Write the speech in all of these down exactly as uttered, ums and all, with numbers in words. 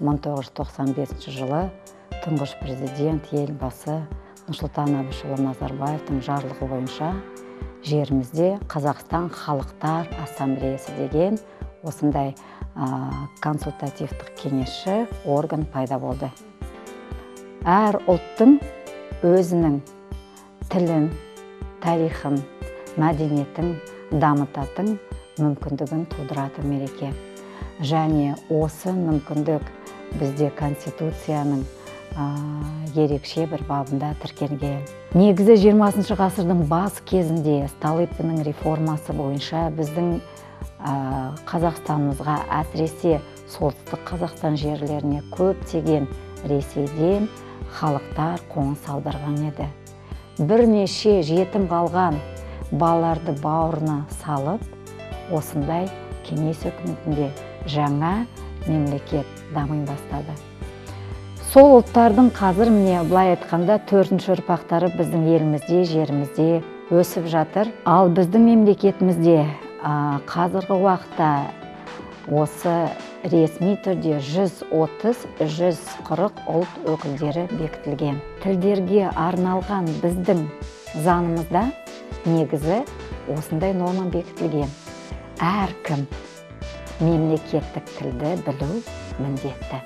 мың тоғыз жүз тоқсан бесінші жылы тұңғыш президент елбасы Нұрсұлтан Әбішұлы Назарбаевтың жарлығы бойынша жерімізде Қазақстан Халықтар Ассамблеясы деген осындай консультативтік кеңесші орган пайда болды. Әр ұлттың өзінің тілін, тарихын, мәдениетін дамытатын мүмкіндігін тудыратын мереке. Және осы мүмкіндік бізде Конституцияның ерекше бір бабында тіркелген. Негізі жиырмасыншы ғасырдың бас кезінде Столыпиннің реформасы бойынша біздің Қазақстанымызға, әсіресе солтүстік Қазақстан жерлеріне көптеген Ресейден халықтар қоныс аударған еді. Бірнеше жетім қалған балаларды бауырына салып, осындай кеңес үкіметінде жаңа мемлекет дами бастады. Сол ұлттардың қазір міне былай айтқанда төртінші ұрпақтары біздің елімізде, жерімізде өсіп жатыр. Ал біздің мемлекетімізде қазіргі уақытта осы ресми түрде жүз отыз жүз қырық ұлт өкілдері бекітілген. Тілдерге арналған біздің заңымызда негізі осындай норма бекітілген. Әркім мемлекеттік тілді білу міндетті.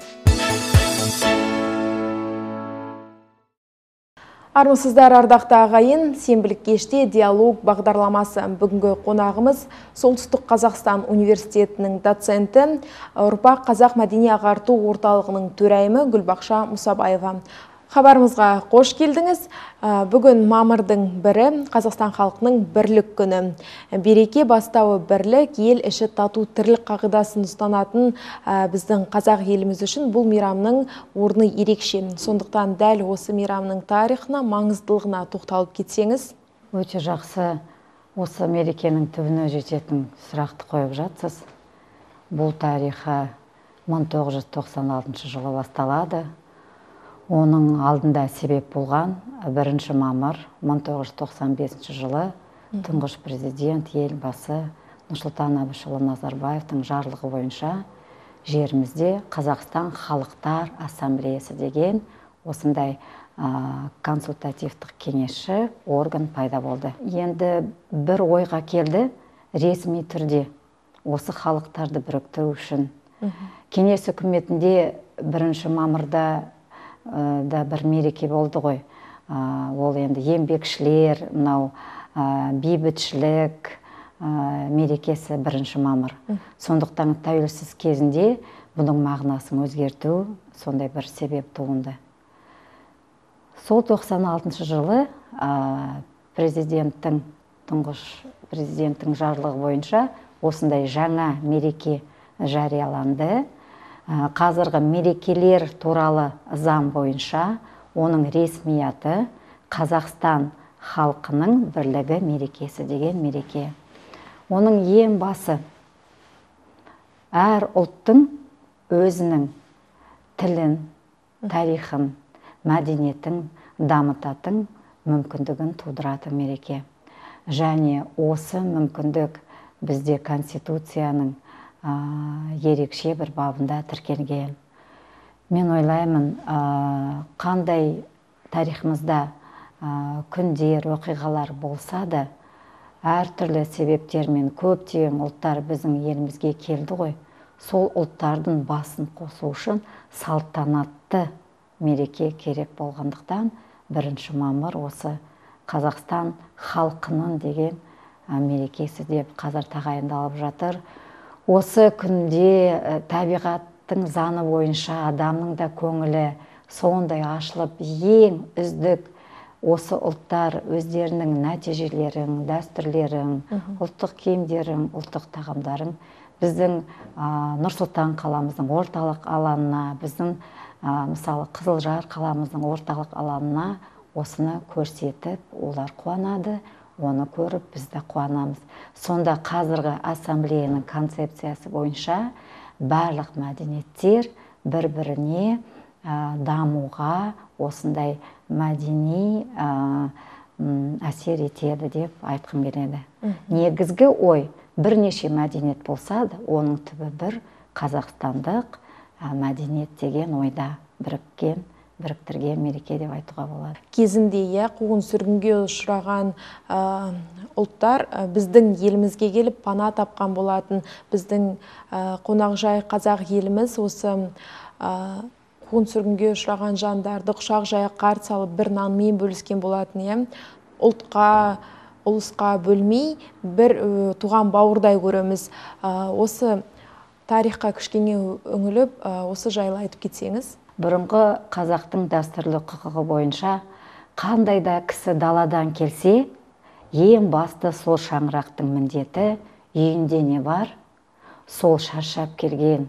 Армысыздар, ардақты ағайын, сенбілік кеште диалог бағдарламасы. Бүгінгі қонағымыз Солтүстік Қазақстан университетінің доценті, ұрпақ қазақ мәдени ағарту орталығының төрайымы Гүлбақша Мұсабаева. Хабарымызға қош келдіңіз. Бүгін мамырдың бірі Қазақстан халқының бірлік күні. Береке бастауы бірлік, ел іші тату тірлік қағидасын ұстанатын біздің қазақ еліміз үшін бұл мейрамның орны ерекше. Сондықтан дәл осы мейрамның тарихына, маңыздылығына тоқталып кетсеңіз. Өте жақсы, осы мерекенің түбіне жететін сұрақты қойып жатсыз. Бұл тарихы мың тоғыз жүз тоқсан алтыншы жылы басталады. Оның алдында себеп болған бірінші мамыр мың тоғыз жүз тоқсан бесінші жылы тұңғыш президент елбасы Нұрсұлтан Әбішұлы Назарбаевтың жарлығы бойынша жерімізде Қазақстан Халықтар Ассамблеясы деген осындай консультативтік кеңесші орган пайда болды. Енді бір ойға келді, ресми түрде осы халықтарды біріктіру үшін. Кеңес үкіметінде бірінші мамырда да бір мереке болды ғой. Ол енді еңбекшілер, мынау бейбітшілік мерекесі бірінші мамыр. Сондықтан тәуелсіз кезінде бұның мағынасын өзгерту сондай бір себеп туынды. Сол тоқсан алтыншы жылы президенттің, тұңғыш президенттің жарлығы бойынша осындай жаңа мереке жарияланды. Қазіргі мерекелер туралы заң бойынша оның ресми аты Қазақстан халқының бірлігі мерекесі деген мереке. Оның ең басы әр ұлттың өзінің тілін, тарихын, мәдениетін дамытатын мүмкіндігін тудыратын мереке. Және осы мүмкіндік бізде Конституцияның ерекше бір бабында тіркелген. Мен ойлаймын, қандай тарихымызда күндер, оқиғалар болса да, әртүрлі себептермен көптеген ұлттар біздің елімізге келді ғой. Сол ұлттардың басын қосу үшін салтанатты мереке керек болғандықтан бірінші мамыр осы Қазақстан халқының деген мерекесі деп қазір тағайындалып жатыр. Осы күнде табиғаттың заңы бойынша адамның да көңілі сондай ашылып, ең үздік осы ұлттар өздерінің нәтижелерін, дәстүрлерін, ұлттық киімдерін, ұлттық тағамдарын біздің Нұр-Сұлтан қаламыздың орталық алаңына, біздің мысалы Қызылжар қаламыздың орталық алаңына осыны көрсетіп, олар қуанады. Оны көріп, біз де қуанамыз. Сонда қазіргі ассамблеяның концепциясы бойынша барлық мәдениеттер бір-біріне дамуға осындай мәдени әсер етеді деп айтқым келеді. Негізгі ой бірнеше мәдениет болса да, оның түбі бір қазақстандық мәдениет деген ойда біріккен, біріктірген мереке деп айтуға болады. Кезінде иә қуғын сүргінге ұшыраған ұлттар біздің елімізге келіп пана тапқан болатын. Біздің қонақжай қазақ еліміз осы қуғын сүргінге ұшыраған жандарды құшақ жая қарсы алып бір нанмен бөліскен болатын. Иә ұлтқа, ұлысқа бөлмей бір туған бауырдай көреміз. Осы тарихқа кішкене үңіліп, осы жайлы айтып кетсеңіз. Бұрынғы қазақтың дәстүрлі құқығы бойынша қандай да кісі даладан келсе, ең басты сол шаңырақтың міндеті, үйінде не бар, сол шаршап келген,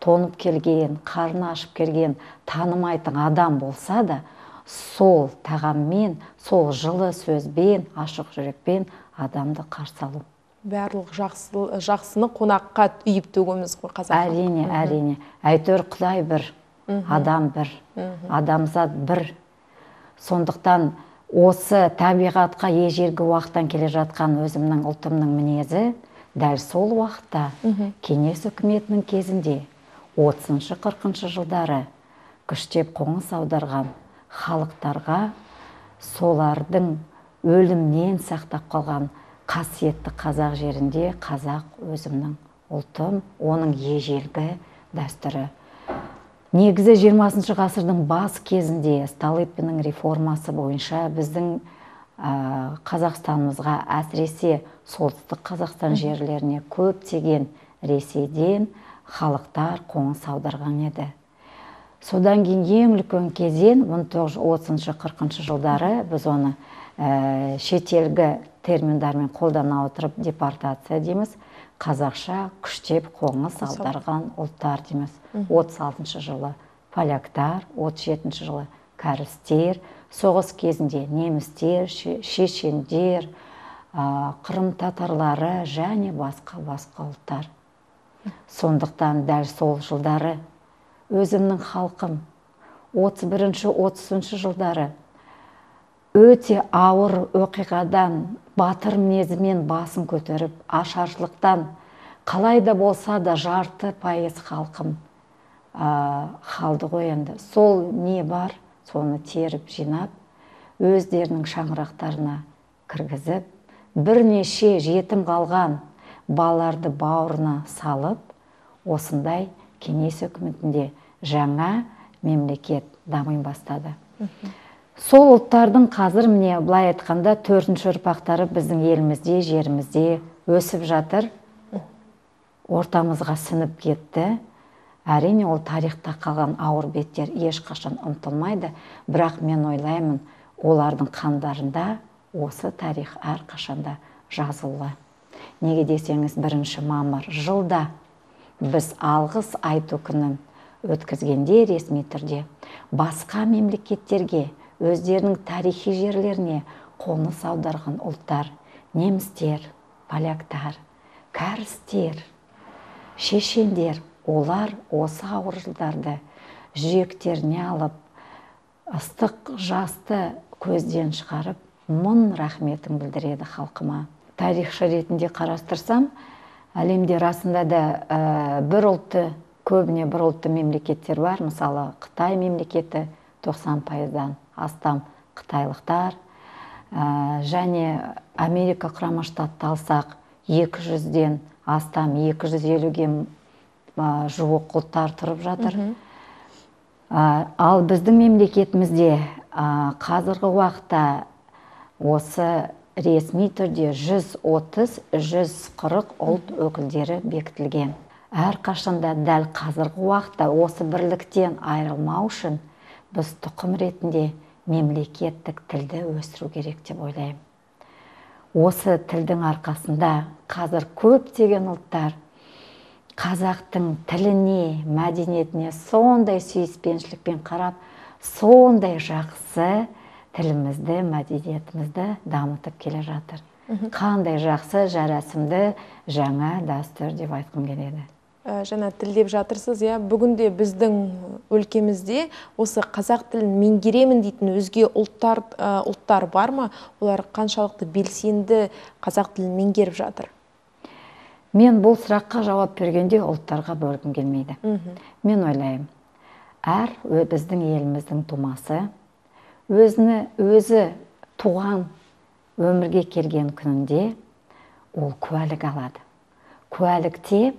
тонып келген, қарны ашып келген, танымайтын адам болса да, сол тағаммен, сол жылы сөзбен, ашық жүрекпен адамды қарсы алу. Барлық жақсыны қонаққа үйіп төгеміз ғой қазақ. Әрине, әрине. Әйтеуір Құдай бір, адам бір, адамзат бір. Сондықтан осы табиғатқа ежелгі уақыттан келе жатқан өзімнің ұлтымның мінезі дәл сол уақытта кеңес үкіметінің кезінде отызыншы қырқыншы жылдары күштеп қоныс аударған халықтарға солардың өлімнен сақтап қалған қасиетті қазақ жерінде қазақ өзімнің ұлтым, оның ежелгі дәстүрі. Негізі жиырмасыншы ғасырдың бас кезінде Столыпиннің реформасы бойынша біздің Қазақстанымызға, әсіресе солтүстік Қазақстан жерлеріне көптеген Ресейден халықтар қоныс аударған еді. Содан кейін ең үлкен кезең мың тоғыз жүз отызыншы қырқыншы жылдары біз оны шетелгі терминдармен қолдана отырып депортация дейміз, қазақша күштеп қоныс аударған ұлттар дейміз. отыз алтыншы жылы поляктар, отыз жетінші жылы кәрістер, соғыс кезінде немістер, шешендер, қырым татарлары және басқа-басқа ұлттар. Сондықтан дәл сол жылдары өзімнің халқым отыз бірінші отызыншы жылдары өте ауыр оқиғадан батыр мінезімен басын көтеріп, ашаршылықтан қалай да болса да жарты пайыз халқым қалды ғой енді. Сол не бар, соны теріп жинап, өздерінің шаңырақтарына кіргізіп, бірнеше жетім қалған балаларды бауырына салып, осындай кеңес үкіметінде жаңа мемлекет дами бастады. Сол ұлттардың қазір міне былай айтқанда төртінші ұрпақтары біздің елімізде, жерімізде өсіп жатыр, ортамызға сіңіп кетті. Әрине ол тарихта қалған ауыр беттер ешқашан ұмытылмайды, бірақ мен ойлаймын, олардың қандарында осы тарих әрқашанда жазылды. Неге десеңіз, бірінші мамыр жылда біз алғыс айту күнін өткізгенде ресми түрде басқа мемлекеттерге, өздерінің тарихи жерлеріне қоныс аударған ұлттар, немістер, поляктар, кәрістер, шешендер, олар осы ауыр жылдарды жүректеріне алып, ыстық жасты көзден шығарып, мың рахметін білдіреді халқыма. Тарихшы ретінде қарастырсам, әлемде расында да бір ұлтты, көбіне бір ұлтты мемлекеттер бар. Мысалы, Қытай мемлекеті тоқсан пайыздан астам қытайлықтар, және Америка құрама штатты алсақ, екі жүзден астам, екі жүз елуге жуық ұлттар тұрып жатыр. Ал біздің мемлекетімізде қазіргі уақытта осы ресми түрде жүз отыз жүз қырық ұлт өкілдері бекітілген. Әрқашанда дәл қазіргі уақытта осы бірліктен айырылмау үшін біз тұқым ретінде мемлекеттік тілді өсіру керек деп ойлаймын. Осы тілдің арқасында қазір көптеген ұлттар қазақтың тіліне, мәдениетіне сондай сүйіспеншілікпен қарап, сондай жақсы тілімізді, мәдениетімізді дамытып келе жатыр. Қандай жақсы, жарасымды жаңа дәстүр деп айтқым келеді. Жаңа тіл деп жатырсыз, иә, бүгінде біздің өлкемізде осы қазақ тілін меңгеремін дейтін өзге ұлттар, ұлттар бар ма? Олар қаншалықты белсенді қазақ тілін меңгеріп жатыр? Мен бұл сұраққа жауап бергенде ұлттарға бөлгім келмейді. Мен ойлаймын, әр біздің еліміздің тумасы өзіні өзі туған өмірге келген күнінде ол куәлік алады. Куәлікте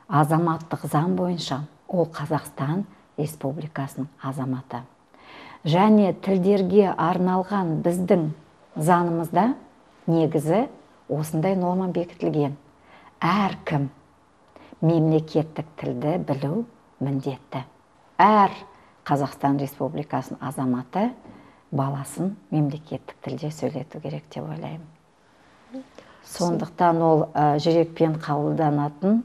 азаматтық заң бойынша ол Қазақстан Республикасының азаматы. Және тілдерге арналған біздің заңымызда негізі осындай норма бекітілген. Әркім мемлекеттік тілді білу міндетті. Әр Қазақстан Республикасының азаматы баласын мемлекеттік тілде сөйлету керек деп ойлаймын. Сондықтан ол жүрекпен қабылданатын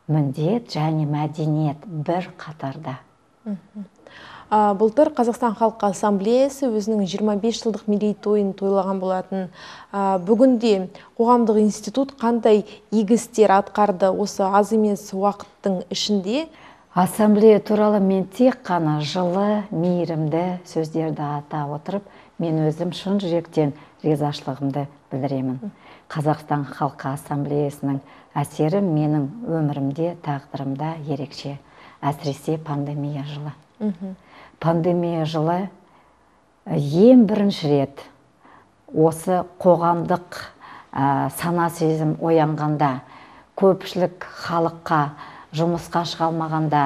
міндет және мәдениет бір қатарда. Былтыр Қазақстан Халқы Ассамблеясы өзінің жиырма бес жылдық мерейтойын тойлаған болатын. Бүгінде қоғамдық институт қандай игі істер атқарды осы аз емес уақыттың ішінде? Ассамблея туралы мен тек қана жылы, мейірімді сөздерді ата отырып, мен өзім шын жүректен ризашылығымды білдіремін. Қазақстан Халқы Ассамблеясының әсері менің өмірімде, тағдырымда ерекше, әсіресе пандемия жылы. Пандемия жылы ең бірінші рет осы қоғамдық сана сезім оянғанда, көпшілік халыққа жұмысқа шыға алмағанда,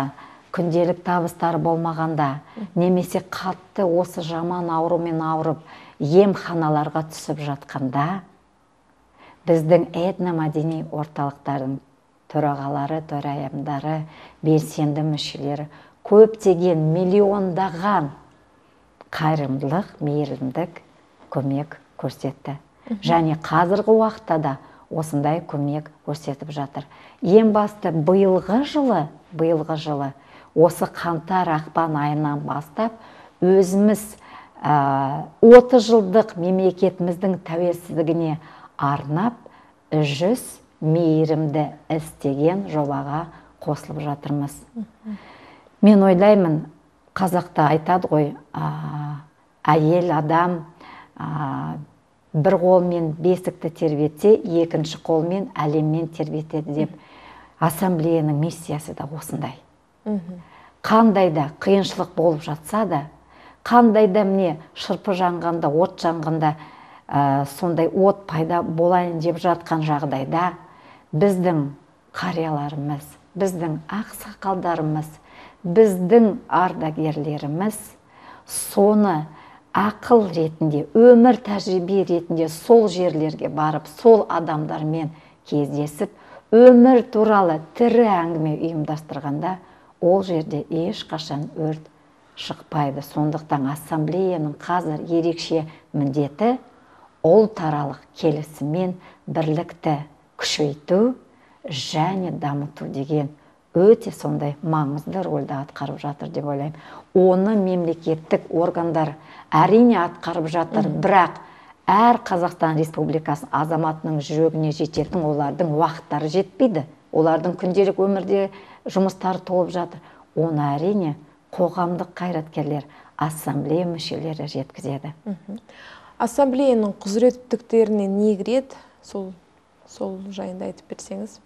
күнделік табыстары болмағанда, немесе қатты осы жаман аурумен ауырып, емханаларға түсіп жатқанда, біздің этномәдени орталықтардың төрағалары, төрайымдары, белсенді мүшелері көптеген миллиондаған қайырымдылық, мейірімдік көмек көрсетті. Және қазіргі уақытта да осындай көмек көрсетіп жатыр. Ең басты биылғы жылы, биылғы жылы осы қаңтар ақпан айынан бастап өзіміз отыз жылдық мемлекетіміздің тәуелсіздігіне арнап жүз мейірімді іс деген жобаға қосылып жатырмыз. Мен ойлаймын, қазақта айтады ғой, әйел адам бір қолмен бесікті тербетсе, екінші қолмен әлеммен тербетеді деп. Ассамблеяның миссиясы да осындай. Қандай да қиыншылық болып жатса да, қандай да міне шырпы жанғанда, от жанғанда, сондай от пайда болайын деп жатқан жағдайда, біздің қарияларымыз, біздің ақсақалдарымыз, біздің ардагерлеріміз соны ақыл ретінде, өмір тәжірибе ретінде сол жерлерге барып, сол адамдармен кездесіп, өмір туралы тірі әңгіме ұйымдастырғанда, ол жерде ешқашан өрт шықпайды. Сондықтан ассамблеяның қазір ерекше міндеті ұлтаралық келісім мен бірлікті күшейту және дамыту деген өте сондай маңызды рөлді атқарып жатыр деп ойлаймын. Оны мемлекеттік органдар әрине атқарып жатыр, бірақ әр Қазақстан Республикасы азаматының жүрегіне жететін олардың уақыттары жетпейді. Олардың күнделік өмірде жұмыстары толып жатыр. Оны әрине қоғамдық қайраткерлер, ассамблея мүшелері жеткізеді. Ассамблеяның құзыреттіліктеріне не кіреді? Сол, сол жайында айтып берсеңіз.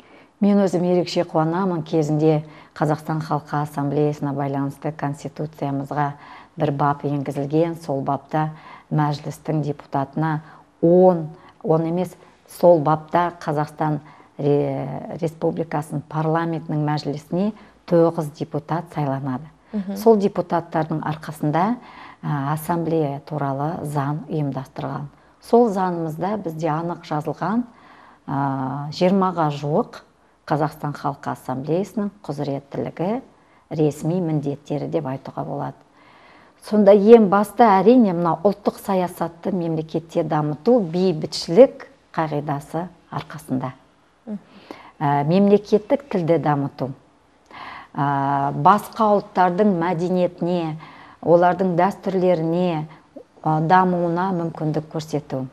Мен өзім ерекше қуанамын, кезінде Қазақстан Халқы Ассамблеясына байланысты Конституциямызға бір бап енгізілген. Сол бапта мәжілістің депутатына он, он емес, сол бапта Қазақстан Республикасының парламентінің мәжілісіне тоғыз депутат сайланады. Сол депутаттардың арқасында ассамблея туралы заң ұйымдастырған. Сол заңымызда бізде анық жазылған жиырмаға жуық Қазақстан Халқы Ассамблеясының құзыреттілігі, ресми міндеттері деп айтуға болады. Сонда ең басты әрине мына ұлттық саясатты мемлекетте дамыту бейбітшілік қағидасы арқасында. Мемлекеттік тілді дамыту, басқа ұлттардың мәдениетіне, олардың дәстүрлеріне дамуына мүмкіндік көрсету.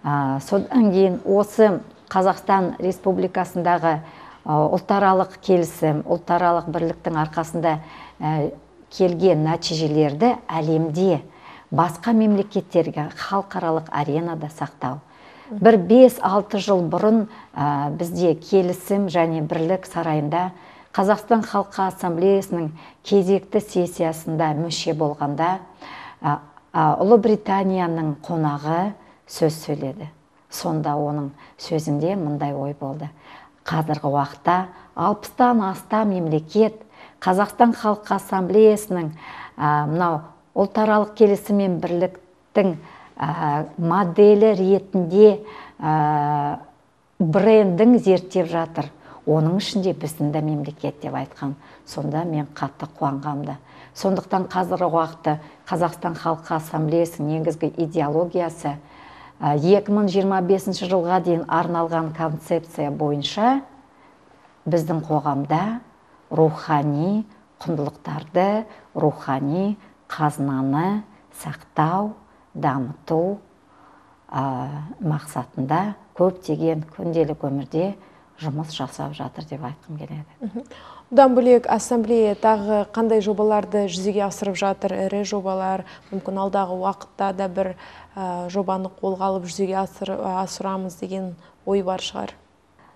Содан кейін осы Қазақстан Республикасындағы ұлтаралық келісім, ұлтаралық бірліктің арқасында келген нәтижелерді әлемде басқа мемлекеттерге халықаралық аренада сақтау. бір бес алты жыл бұрын бізде келісім және бірлік сарайында Қазақстан Халқы Ассамблеясының кезекті сессиясында мүше болғанда Ұлыбританияның қонағы сөз сөйледі. Сонда оның сөзінде мындай ой болды. Қазіргі уақытта алпыстан астам мемлекет Қазақстан Халқы Ассамблеясының мынау ұлтаралық келісім мен бірліктің моделі ретінде брендін зерттеп жатыр. Оның ішінде біздің де мемлекет деп айтқан. Сонда мен қатты қуанғамды. Сондықтан қазіргі уақытта Қазақстан Халқы Ассамблеясының негізгі идеологиясы екі мың жиырма бесінші жылға дейін арналған концепция бойынша біздің қоғамда рухани құндылықтарды, рухани қазынаны сақтау, дамыту мақсатында көптеген күнделік өмірде жұмыс жасап жатыр деп айтқым келеді. Бұдан бөлек ассамблея тағы қандай жобаларды жүзеге асырып жатыр? Ірі жобалар, мүмкін алдағы уақытта да бір жобаны қолға алып жүзеге асырамыз деген ой бар шығар.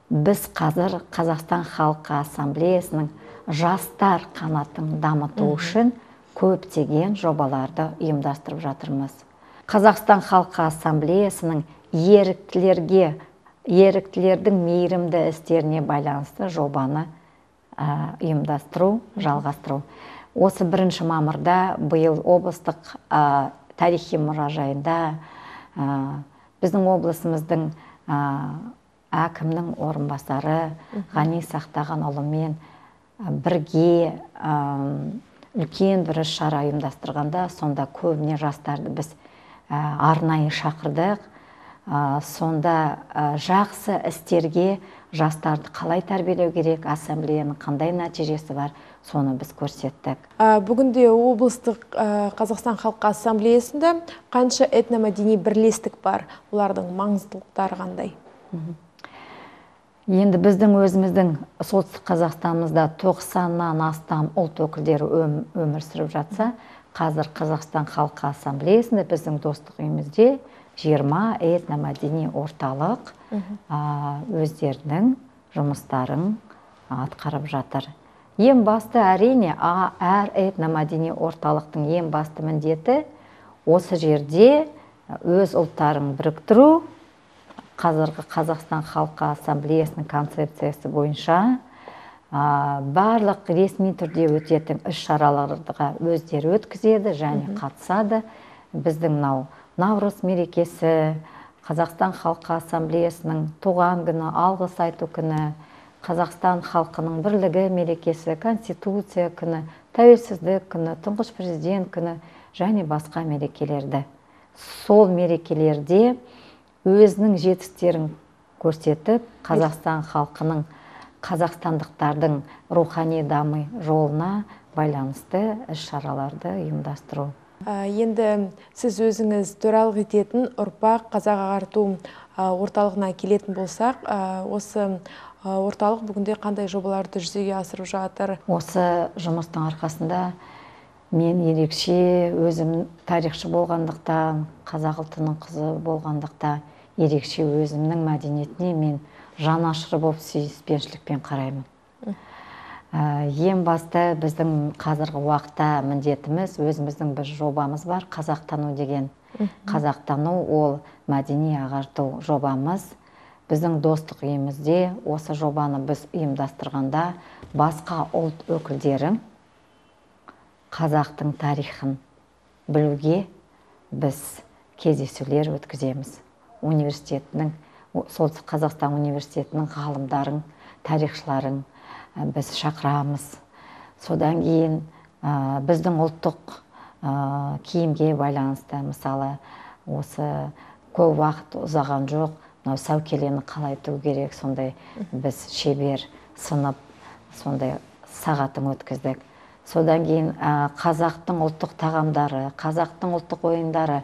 Біз қазір Қазақстан Халқы Ассамблеясының жастар қанатын дамыту үшін көптеген жобаларды ұйымдастырып жатырмыз. Қазақстан Халқы Ассамблеясының еріктілерге еріктілердің мейірімді істеріне байланысты жобаны ұйымдастыру, жалғастыру. Осы бірінші мамырда биыл облыстық тарихи мұражайында біздің облысымыздың әкімнің орынбасары Ғани Сақтағанұлымен бірге үлкен бір іс-шара ұйымдастырғанда, сонда көбіне жастарды біз арнайы шақырдық. Сонда жақсы істерге жастарды қалай тәрбиелеу керек, ассамблеяның қандай нәтижесі бар, соны біз көрсеттік. Бүгінде облыстық Қазақстан Халқы Ассамблеясында қанша этномәдени бірлестік бар? Олардың маңыздылықтары қандай? Енді біздің өзіміздің солтүстік Қазақстанымызда тоқсаннан астам ұлт өкілдері өмір сүріп жатса, қазір Қазақстан Халқы Ассамблеясында біздің достық үйімізде жиырма этномәдени орталық өздерінің жұмыстарын атқарып жатыр. Ең басты әрине, әр этномәдени орталықтың ең басты міндеті осы жерде өз ұлттарын біріктіру. Қазіргі Қазақстан Халқы Ассамблеясының концепциясы бойынша барлық ресми түрде өтетін іс-шараларға өздері өткізеді және қатысады. Біздің Наурыз мерекесі, Қазақстан Халқы Ассамблеясының туған күні, алғыс айту күні, Қазақстан халқының бірлігі мерекесі, Конституция күні, тәуелсіздік күні, тұңғыш президент күні және басқа мерекелерді. Сол мерекелерде өзінің жетістіктерін көрсетіп, Қазақстан халқының, қазақстандықтардың рухани даму жолына байланысты іс-шараларды ұйымдастыру. Енді сіз өзіңіз төралық ететін ұрпақ қазақ ағарту орталығына келетін болсақ, осы орталық бүгінде қандай жобаларды жүзеге асырып жатыр? Осы жұмыстың арқасында мен ерекше өзім тарихшы болғандықтан, қазақ ұлтының қызы болғандықтан, ерекше өзімнің мәдениетіне мен жанашыр болып сүйіспеншілікпен қараймын. Ең басты біздің қазіргі уақытта міндетіміз, өзіміздің бір жобамыз бар, қазақтану деген. Қазақтану ол мәдени ағарту жобамыз. Біздің достық үйімізде осы жобаны біз ұйымдастырғанда басқа ұлт өкілдерін қазақтың тарихын білуге біз кездесулер өткіземіз. Университетінің, Солтүстік Қазақстан университетінің ғалымдарын, тарихшыларын біз шақырамыз. Содан кейін біздің ұлттық киімге байланысты, мысалы, осы көп уақыт ұзаған жоқ, сәукелені қалай тігу керек, сондай біз шебер сынып, сондай сағатын өткіздік. Содан кейін қазақтың ұлттық тағамдары, қазақтың ұлттық ойындары,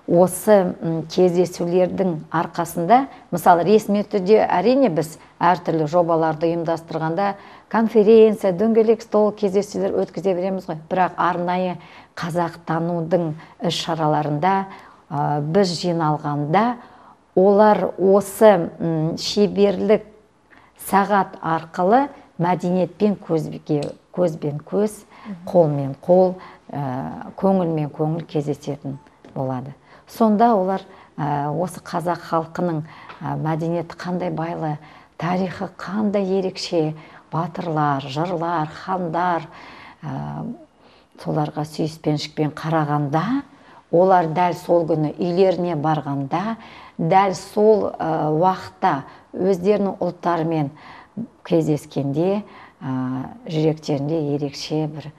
осы кездесулердің арқасында, мысалы, ресми түрде әрине біз әртүрлі жобаларды ұйымдастырғанда конференция, дөңгелек стол кездесулер өткізе береміз ғой. Бірақ арнайы қазақтанудың іс-шараларында біз жиналғанда олар осы шеберлік сағат арқылы мәдениетпен көзбен көз, қолмен қол, көңілмен көңіл кездесетін болады. Сонда олар осы қазақ халқының мәдениеті қандай байлы, тарихы қандай ерекше, батырлар, жырлар, хандар, соларға сүйіспеншілікпен қарағанда, олар дәл сол күні үйлеріне барғанда, дәл сол уақытта өздерінің ұлттарымен кездескенде, жүректерінде ерекше бір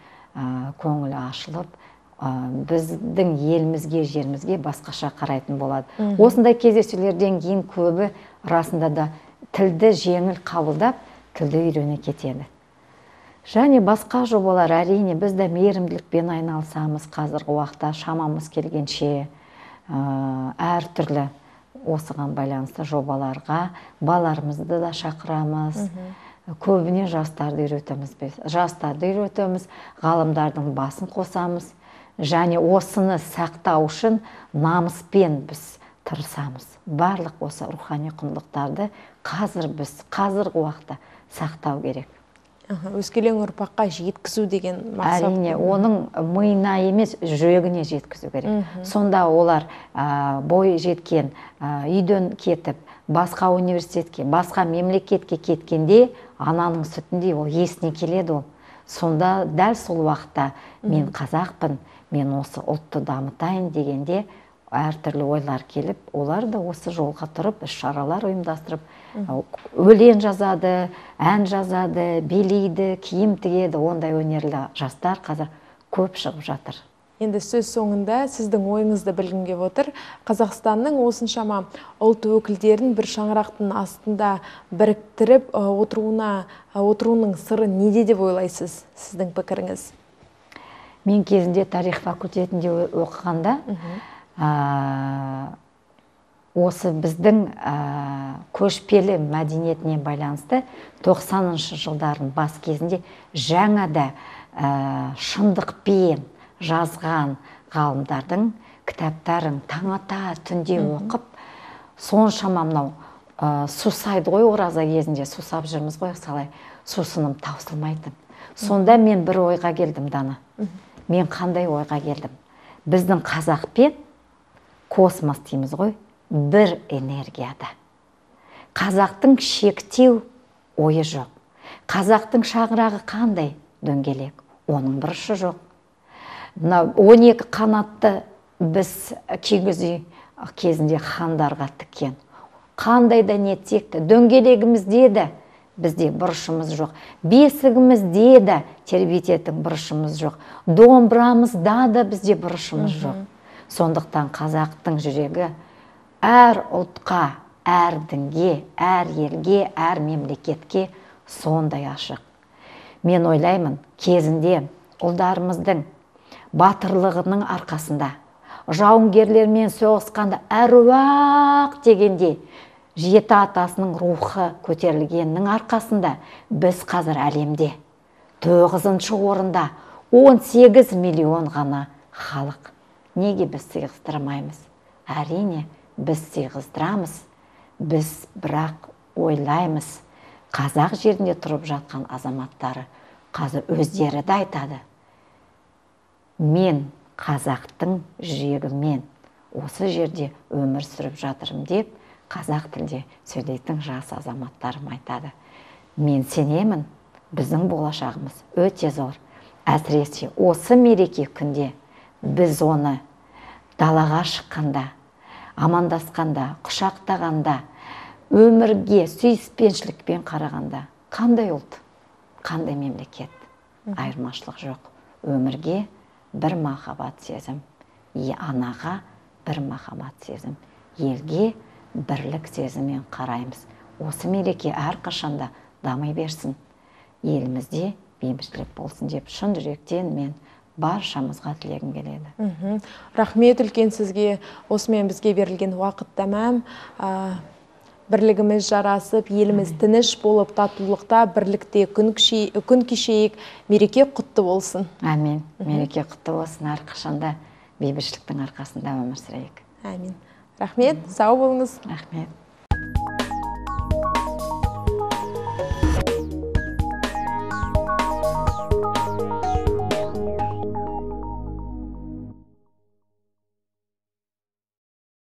көңілі ашылып, біздің елімізге, жерімізге басқаша қарайтын болады. Осындай кездесулерден кейін көбі расында да тілді жеңіл қабылдап, тілді үйрене кетеді. Және басқа жобалар, әрине, біз де мейірімділікпен айналысамыз қазіргі уақытта, шамамыз келгенше әртүрлі осыған байланысты жобаларға балаларымызды да шақырамыз. Көбіне жастарды үйретеміз, жастарды үйретеміз, ғалымдардың басын қосамыз. Және осыны сақтау үшін намыспен біз тырысамыз. Барлық осы рухани құндылықтарды қазір біз, қазіргі уақытта сақтау керек. Өскелең ұрпаққа жеткізу деген мақсат. Әрине, оның миына емес, жүрегіне жеткізу керек. Сонда олар бой жеткен, үйден кетіп, басқа университетке, басқа мемлекетке кеткенде, ананың сүтіндей ол есіне келеді ол. Сонда дәл сол уақытта мен қазақпын, мен осы ұлтты дамытайын дегенде әртүрлі ойлар келіп, олар да осы жолға тұрып, іс-шаралар ұйымдастырып, өлең жазады, ән жазады, билейді, киім тігеді, ондай өнерлі жастар қазір көп шығып жатыр. Енді сөз соңында сіздің ойыңызды білгім келіп отыр. Қазақстанның осыншама ұлт өкілдерін бір шаңырақтың астында біріктіріп отыруының сыры неде деп ойлайсыз, сіздің пікіріңіз? Мен кезінде тарих факультетінде оқығанда, осы біздің көшпелі мәдениетіне байланысты тоқсаныншы жылдардың бас кезінде жаңа да шындықпен жазған ғалымдардың кітаптарын таң ата түнде оқып, соншама мынау сусайды ғой, ораза кезінде сусап жүрміз ғой, салай сусыным таусылмайтын. Сонда мен бір ойға келдім, Дана. Мен қандай ойға келдім? Біздің қазақпен космос дейміз ғой, бір энергияда. Қазақтың шектеу ойы жоқ. Қазақтың шаңырағы қандай дөңгелек? Оның бұрышы жоқ. он екі қанатты біз кигіз үй кезінде хандарға тіккен. Қандай да нетсек те, дөңгелегімізде де бізде бұрышымыз жоқ. Бесігімізде де тербететін бұрышымыз жоқ. Домбырамызда да бізде бұрышымыз жоқ. Сондықтан қазақтың жүрегі әр ұлтқа, әр дінге, әр елге, әр мемлекетке сондай ашық. Мен ойлаймын, кезінде ұлдарымыздың батырлығының арқасында, жауынгерлермен соғысқанда әруақ дегенде жеті атасының рухы көтерілгеннің арқасында біз қазір әлемде тоғызыншы орында он сегіз миллион ғана халық. Неге біз сыйғыздырмаймыз? Әрине, біз сыйғыздырамыз. Біз бірақ ойлаймыз, қазақ жерінде тұрып жатқан азаматтары қазір өздері де айтады. Мен қазақтың жүрегімен осы жерде өмір сүріп жатырмын деп, қазақ тілде сөйлейтін жас азаматтарым айтады. Мен сенемін, біздің болашағымыз өте зор. Әсіресе осы мереке күнде біз оны далаға шыққанда, амандасқанда, құшақтағанда, өмірге сүйіспеншілікпен қарағанда, қандай ұлт, қандай мемлекет, айырмашылық жоқ. Өмірге бір махаббат сезім, анаға бір махаббат сезім, елге бірлік сезіммен қараймыз. Осы мереке әрқашанда дамай берсін, елімізде бейбітшілік болсын деп шын жүректен мен баршамызға тілегім келеді. Рахмет үлкен сізге. Осымен бізге берілген уақыт тәмам. Бірлігіміз жарасып, еліміз тыныш болып, татулықта, бірлікте күн кешейік, мереке құтты болсын. Әмин. Мереке құтты болсын, әрқашанда бейбітшіліктің арқасында өмір сүрейік. Әмин. Рахмет, сау болыңыз. Рахмет.